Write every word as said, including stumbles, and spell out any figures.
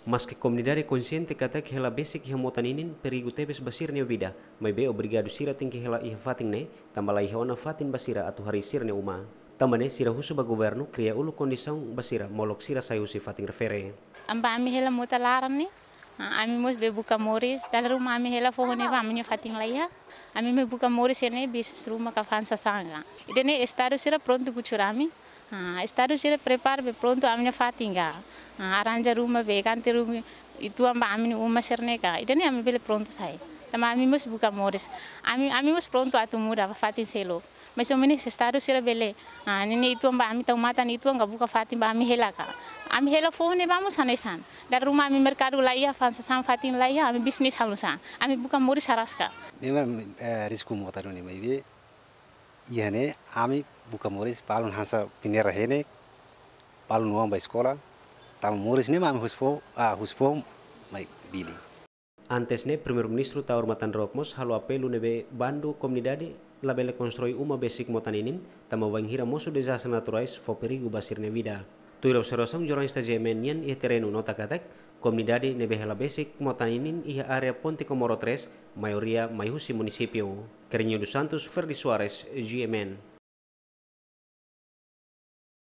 Maske komunidade konsiente katak hela besik iha mota ninin perigu tebes ba sira-nia vida, maibé obrigadu sira tenke hela iha fatin ne'e, tanba la iha ona fatin ba sira atu harii sira-nia uma. Tanba ne'e sira husu ba governu kria uluk kondisaun ba sira molok sira sai husi fatin refere. Tanba ami hela mota laran ne'e, ah, ami mós bele buka moris, dala ruma ami hela foho ne'e ba ami-nia fatin la iha. Ami mai buka moris iha ne'e bis ruma ka fa'an sasán ka. Ida-ne'e estadu sira prontu kutxur ami. Ah, estadu sira prepara be prontu ami-nia fatin ka. Ah, arranja ruma be kanti ruma uitoan ba ami-nia uma sira-ne'e ka. Ida-ne'e ami bele prontu sai. Tanba ami mós buka moris. Ami, ami mós prontu atu muda ba fatin seluk. Mais ou menos estadu sira bele, ah, ne'e ne'e uitoan ba ami tau matan uitoan ka buka fatin ba ami hela ka. Ami hela foho ne'e ba mós hanesan. Dala ruma ami merkadu la iha, fa'an sasán fatin la iha, ami bisnis halo sá. Ami buka moris araska. Ne'e mak, eh, risku mota duni maibé. Iha ne'e ami buka moris balun hanesan peneira hene, balun oan ba eskola, tanba moris ne'e mak ami husi foho, ah, husi foho mai Dili. Antes ne'e, Primeiru-Ministru Taur Matan Ruak mós halo apelu ne'ebé bandu komunidade labele konstrui uma besik mota ninin, tanba bainhira mosu dezastre naturais fó perigu ba sira-nia vida. Tuir observasaun jornalista G M N nian iha terrenu nota katak, komunidade ne'ebé hela besik mota ninin iha área Ponte Comoro três, maioria mai husi munisípiu. Carrinho dos Santos, Ferdi Soares, G M N.